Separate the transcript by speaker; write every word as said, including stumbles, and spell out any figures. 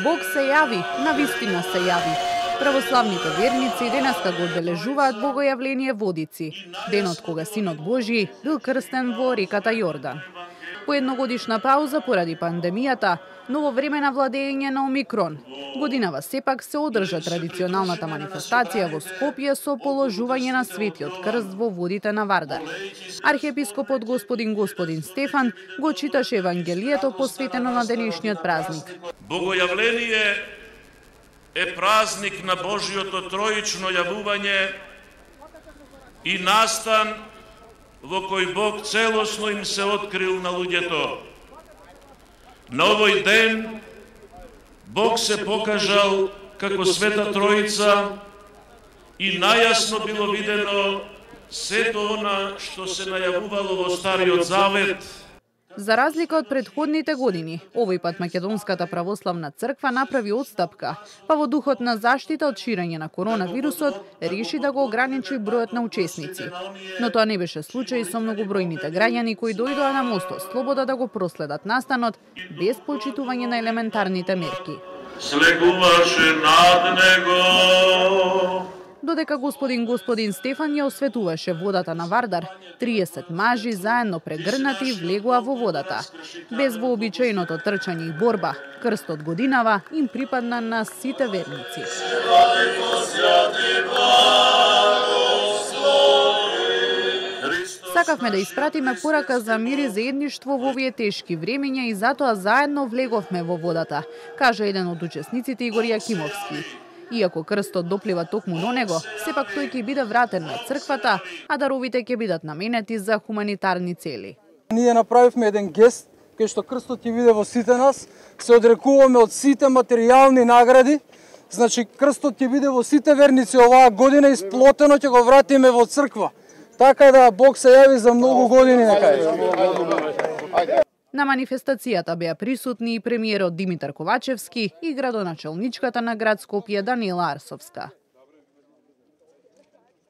Speaker 1: Бог се јави, навистина се јави. Православните верници денеска го одбележуваат богојавление Водици, денот кога Синот Божји бил крстен во реката Јордан. По едногодишна пауза поради пандемијата, ново време на владење на Омикрон, годинава сепак се одржа традиционалната манифестација во Скопје со положување на светиот крст во водите на Вардар. Архиепископот господин Господин Стефан го читаше Евангелието посветено на денешниот празник.
Speaker 2: Богојавление е празник на Божјото троично јавување и настан во кој Бог целосно им се открил на луѓето. На овој ден Бог се покажал како Света Троица и најасно било видено сето она што се најавувало во Стариот Завет.
Speaker 1: За разлика од претходните години, овој пат Македонската православна црква направи отстапка, па во духот на заштита од ширење на коронавирусот реши да го ограничи бројот на учесници. Но тоа не беше случај со многобројните граѓани кои дојдоа на мостот Слобода да го проследат настанот без почитување на елементарните мерки.
Speaker 2: Слегуваше над него.
Speaker 1: Додека господин Господин Стефан ја осветуваше водата на Вардар, триесет мажи заедно прегрнати влегоа во водата. Без вообичаеното трчање и борба, крстот годинава им припадна на сите верници. Сакавме да испратиме порака за мир и заедништво во овие тешки времења и затоа заедно влеговме во водата, кажа еден од учесниците Игор Јакимовски. Иако крстот доплива токму до него, сепак тој ќе биде вратен на црквата, а даровите ќе бидат наменети за хуманитарни цели.
Speaker 3: Ние направивме еден гест, кај што крстот ќе биде во сите нас, се одрекуваме од сите материјални награди, значи крстот ќе биде во сите верници оваа година, исплотено ќе го вратиме во црква. Така да Бог се јави за многу години нека.
Speaker 1: На манифестацијата беа присутни и премиерот Димитар Ковачевски и градоначелничката на град Скопје Даниела Арсовска.